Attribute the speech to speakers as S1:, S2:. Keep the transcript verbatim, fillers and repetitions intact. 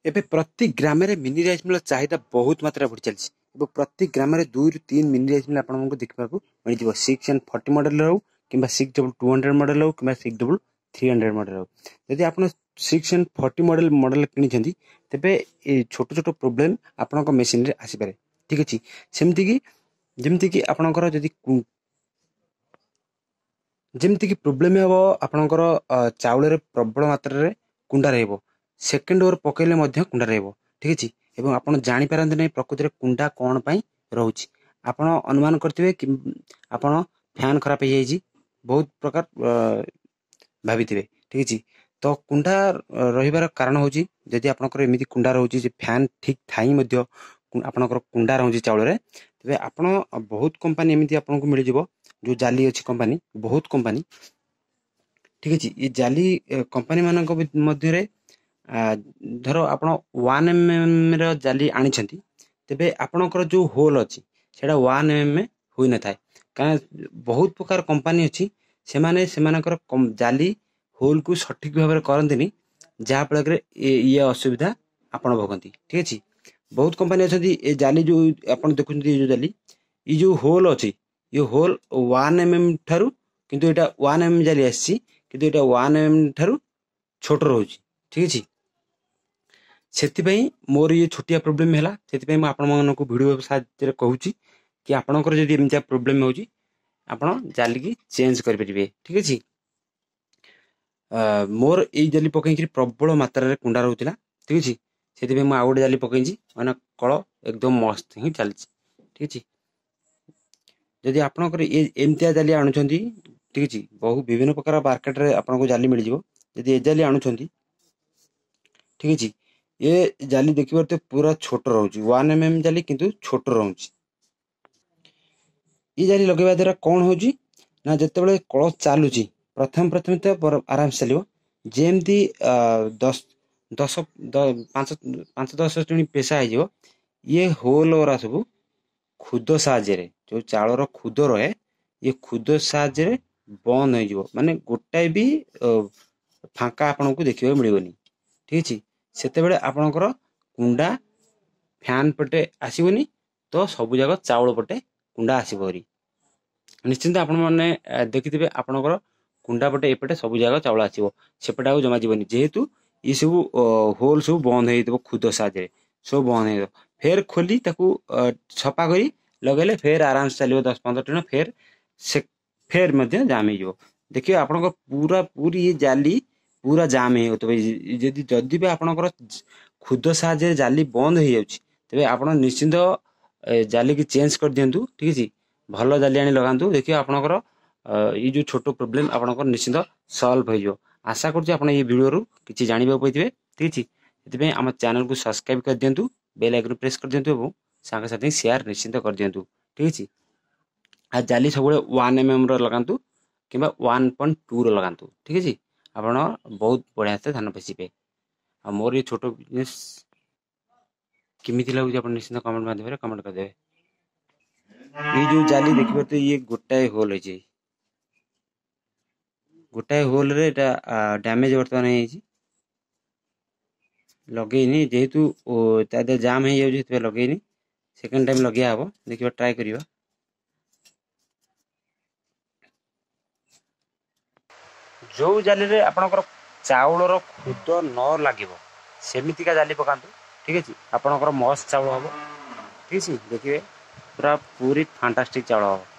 S1: ଏବେ ପ୍ରତି ଗ୍ରାମରେ ମିନି ରାଇସ୍ ମିଲ୍ର ଚାହିଦା ବହୁତ ମାତ୍ରାରେ ବଢ଼ି ଚାଲିଛି ଏବଂ ପ୍ରତି ଗ୍ରାମରେ ଦୁଇରୁ ତିନି ମିନି ରାଇସ୍ ମିଲ୍ ଆପଣଙ୍କୁ ଦେଖିବାକୁ ମିଳିଯିବ। ସିକ୍ସ ଆଣ୍ଡ ଫର୍ଟି ମଡ଼େଲ ହେଉ କିମ୍ବା six double two hundred model ହେଉ କିମ୍ବା six double three hundred model ହେଉ। ଯଦି ଆପଣ six and forty model model କିଣିଛନ୍ତି, ତେବେ ଏ ଛୋଟ ଛୋଟ ପ୍ରୋବ୍ଲେମ୍ ଆପଣଙ୍କ ମେସିନ୍ରେ ଆସିପାରେ। ଠିକ୍ ଅଛି, ସେମିତିକି ଯେମିତିକି ଆପଣଙ୍କର ଯଦି ଯେମିତିକି ପ୍ରୋବ୍ଲେମ୍ ହେବ, ଆପଣଙ୍କର ଚାଉଳରେ ପ୍ରବଳ ମାତ୍ରାରେ କୁଣ୍ଡା ରହିବ, ସେକେଣ୍ଡ ଓଭର ପକାଇଲେ ମଧ୍ୟ କୁଣ୍ଡା ରହିବ। ଠିକ୍ ଅଛି, ଏବଂ ଆପଣ ଜାଣିପାରନ୍ତି ନାହିଁ ପ୍ରକୃତିରେ କୁଣ୍ଡା କ'ଣ ପାଇଁ ରହୁଛି। ଆପଣ ଅନୁମାନ କରିଥିବେ କି ଆପଣ ଫ୍ୟାନ୍ ଖରାପ ହେଇଯାଇଛି, ବହୁତ ପ୍ରକାର ଭାବିଥିବେ। ଠିକ୍ ଅଛି, ତ କୁଣ୍ଡା ରହିବାର କାରଣ ହେଉଛି, ଯଦି ଆପଣଙ୍କର ଏମିତି କୁଣ୍ଡା ରହୁଛି ଯେ ଫ୍ୟାନ୍ ଠିକ୍ ଥାଇ ମଧ୍ୟ ଆପଣଙ୍କର କୁଣ୍ଡା ରହୁଛି ଚାଉଳରେ, ତେବେ ଆପଣ ବହୁତ କମ୍ପାନୀ ଏମିତି ଆପଣଙ୍କୁ ମିଳିଯିବ ଯେଉଁ ଜାଲି ଅଛି କମ୍ପାନୀ, ବହୁତ କମ୍ପାନୀ। ଠିକ୍ ଅଛି, ଏ ଜାଲି କମ୍ପାନୀମାନଙ୍କ ମଧ୍ୟରେ ଧର ଆପଣ ୱାନ୍ ଏମ୍ ଏମ୍ର ଜାଲି ଆଣିଛନ୍ତି, ତେବେ ଆପଣଙ୍କର ଯେଉଁ ହୋଲ୍ ଅଛି ସେଇଟା ୱାନ୍ ଏମ୍ ଏମ୍ ହୋଇନଥାଏ। କାରଣ ବହୁତ ପ୍ରକାର କମ୍ପାନୀ ଅଛି, ସେମାନେ ସେମାନଙ୍କର ଜାଲି ହୋଲ୍କୁ ସଠିକ୍ ଭାବରେ କରନ୍ତିନି, ଯାହାଫଳରେ ଇଏ ଅସୁବିଧା ଆପଣ ଭୋଗନ୍ତି। ଠିକ୍ ଅଛି, ବହୁତ କମ୍ପାନୀ ଅଛନ୍ତି, ଏ ଜାଲି ଯେଉଁ ଆପଣ ଦେଖୁଛନ୍ତି, ଏ ଯେଉଁ ଜାଲି, ଏ ଯେଉଁ ହୋଲ୍ ଅଛି, ଏ ହୋଲ୍ ୱାନ୍ ଏମ୍ ଏମ୍ ଠାରୁ, କିନ୍ତୁ ଏଇଟା ୱାନ୍ ଏମ୍ ଜାଲି ଆସିଛି, କିନ୍ତୁ ଏଇଟା ୱାନ୍ ଏମ୍ ଠାରୁ ଛୋଟ ରହୁଛି। ଠିକ୍ ଅଛି, ସେଥିପାଇଁ ମୋର ଇଏ ଛୋଟିଆ ପ୍ରୋବ୍ଲେମ୍ ହେଲା। ସେଥିପାଇଁ ମୁଁ ଆପଣମାନଙ୍କୁ ଭିଡ଼ିଓ ସାହାଯ୍ୟରେ କହୁଛି କି ଆପଣଙ୍କର ଯଦି ଏମିତିଆ ପ୍ରୋବ୍ଲେମ୍ ହେଉଛି, ଆପଣ ଜାଲିକି ଚେଞ୍ଜ କରିପାରିବେ। ଠିକ୍ ଅଛି, ମୋର ଏଇ ଜାଲି ପକେଇକିରି ପ୍ରବଳ ମାତ୍ରାରେ କୁଣ୍ଡା ରହୁଥିଲା। ଠିକ୍ ଅଛି, ସେଥିପାଇଁ ମୁଁ ଆଉ ଗୋଟେ ଜାଲି ପକେଇଛି, ମାନେ କଳ ଏକଦମ ମସ୍ତ ହିଁ ଚାଲିଛି। ଠିକ୍ ଅଛି, ଯଦି ଆପଣଙ୍କର ଏ ଏମିତିଆ ଜାଲି ଆଣୁଛନ୍ତି, ଠିକ୍ ଅଛି, ବହୁ ବିଭିନ୍ନ ପ୍ରକାର ମାର୍କେଟରେ ଆପଣଙ୍କୁ ଜାଲି ମିଳିଯିବ। ଯଦି ଏ ଜାଲି ଆଣୁଛନ୍ତି, ଠିକ୍ ଅଛି, ଏ ଜାଲି ଦେଖିପାରୁଥିବେ ପୁରା ଛୋଟ ରହୁଛି, ୱାନ୍ ଏମ୍ ଏମ୍ ଜାଲି କିନ୍ତୁ ଛୋଟ ରହୁଛି। ଏ ଜାଲି ଲଗାଇବା ଦ୍ୱାରା କ'ଣ ହେଉଛି ନା, ଯେତେବେଳେ କଳ ଚାଲୁଛି ପ୍ରଥମେ ପ୍ରଥମେ ତ ଆରାମସେ ଚାଲିବ, ଯେମିତି ଦଶ ଦଶ ପାଞ୍ଚ ପାଞ୍ଚ ଦଶ ଚୁଣି ପେଶା ହେଇଯିବ, ଇଏ ହୋଲ୍ ଗୁରା ସବୁ ଖୁଦ ସାହାଯ୍ୟରେ, ଯେଉଁ ଚାଉଳର ଖୁଦ ରହେ, ଇଏ ଖୁଦ ସାହାଯ୍ୟରେ ବନ୍ଦ ହେଇଯିବ, ମାନେ ଗୋଟାଏ ବି ଫାଙ୍କା ଆପଣଙ୍କୁ ଦେଖିବାକୁ ମିଳିବନି। ଠିକ୍ ଅଛି, ସେତେବେଳେ ଆପଣଙ୍କର କୁଣ୍ଡା ଫ୍ୟାନ୍ ପଟେ ଆସିବନି, ତ ସବୁ ଯାକ ଚାଉଳ ପଟେ କୁଣ୍ଡା ଆସିବ ହେରି। ନିଶ୍ଚିନ୍ତ ଆପଣମାନେ ଦେଖିଥିବେ, ଆପଣଙ୍କର କୁଣ୍ଡା ପଟେ ଏପଟେ ସବୁ ଯାକ ଚାଉଳ ଆସିବ, ସେପଟେ ଆଉ ଜମା ଯିବନି, ଯେହେତୁ ଏସବୁ ହୋଲ୍ ସବୁ ବନ୍ଦ ହେଇଯାଇଥିବ, ଖୁଦ ସାହାଯ୍ୟରେ ସବୁ ବନ୍ଦ ହେଇଯିବ। ଫେର ଖୋଲି ତାକୁ ସଫା କରି ଲଗାଇଲେ ଫେର ଆରାମସେ ଚାଲିବ ଦଶ ପନ୍ଦର ଦିନ, ଫେର ସେ ଫେର ମଧ୍ୟ ଜାମ୍ ହେଇଯିବ। ଦେଖିବେ ଆପଣଙ୍କ ପୁରା ପୁରୀ ଏ ଜାଲି ପୁରା ଜାମ୍ ହେଇଯାଉଥିବ। ଯଦି ଯଦି ବି ଆପଣଙ୍କର ଖୁଦ ସାହାଯ୍ୟରେ ଜାଲି ବନ୍ଦ ହେଇଯାଉଛି, ତେବେ ଆପଣ ନିଶ୍ଚିନ୍ତ ଜାଲିକି ଚେଞ୍ଜ କରିଦିଅନ୍ତୁ। ଠିକ୍ ଅଛି, ଭଲ ଜାଲି ଆଣି ଲଗାନ୍ତୁ, ଦେଖିବେ ଆପଣଙ୍କର ଏଇ ଯେଉଁ ଛୋଟ ପ୍ରୋବ୍ଲେମ୍ ଆପଣଙ୍କର ନିଶ୍ଚିନ୍ତ ସଲ୍ଭ ହେଇଯିବ। ଆଶା କରୁଛି ଆପଣ ଏଇ ଭିଡ଼ିଓରୁ କିଛି ଜାଣିବାକୁ ପାଇଥିବେ। ଠିକ୍ ଅଛି, ସେଥିପାଇଁ ଆମ ଚ୍ୟାନେଲକୁ ସବସ୍କ୍ରାଇବ୍ କରିଦିଅନ୍ତୁ, ବେଲ୍ ଆଇକନ୍ ପ୍ରେସ୍ କରିଦିଅନ୍ତୁ ଏବଂ ସାଙ୍ଗସାଥି ସେୟାର ନିଶ୍ଚିନ୍ତ କରିଦିଅନ୍ତୁ। ଠିକ୍ ଅଛି, ଆଉ ଜାଲି ସବୁବେଳେ ୱାନ୍ ଏମ୍ ଏମ୍ର ଲଗାନ୍ତୁ କିମ୍ବା ୱାନ୍ ପଏଣ୍ଟ ଟୁର ଲଗାନ୍ତୁ। ଠିକ୍ ଅଛି, ଆପଣ ବହୁତ ବଢ଼ିଆ ସେ ଧାନ ପେଶିବେ। ଆଉ ମୋର ଏ ଛୋଟ ବିଜନେସ୍ କେମିତି ଲାଗୁଛି ଆପଣ ନିଶ୍ଚିନ୍ତ କମେଣ୍ଟ ମାଧ୍ୟମରେ କମେଣ୍ଟ କରିଦେବେ। ଏଇ ଯେଉଁ ଜାଲି ଦେଖିପାରୁଥିବେ, ଇଏ ଗୋଟାଏ ହୋଲ୍ ହେଇଛି, ଗୋଟାଏ ହୋଲ୍ରେ ଏଇଟା ଡ୍ୟାମେଜ୍ ବର୍ତ୍ତମାନ ହେଇଯାଇଛି। ଲଗେଇନି, ଯେହେତୁ ତା ଦେହରେ ଜାମ୍ ହେଇଯାଉଛି ସେଥିପାଇଁ ଲଗେଇନି। ସେକେଣ୍ଡ ଟାଇମ୍ ଲଗେଇବା ହେବ, ଦେଖିବା ଟ୍ରାଏ କରିବା। ଯେଉଁ ଜାଲିରେ ଆପଣଙ୍କର ଚାଉଳର ଖୁଦ ନ ଲାଗିବ ସେମିତିକା ଜାଲି ପକାନ୍ତୁ। ଠିକ୍ ଅଛି, ଆପଣଙ୍କର ମସ୍ତ ଚାଉଳ ହେବ। ଠିକ୍ ଅଛି, ଦେଖିବେ ପୁରା ପୁରୀ ଫାଣ୍ଟାଷ୍ଟିକ୍ ଚାଉଳ ହେବ।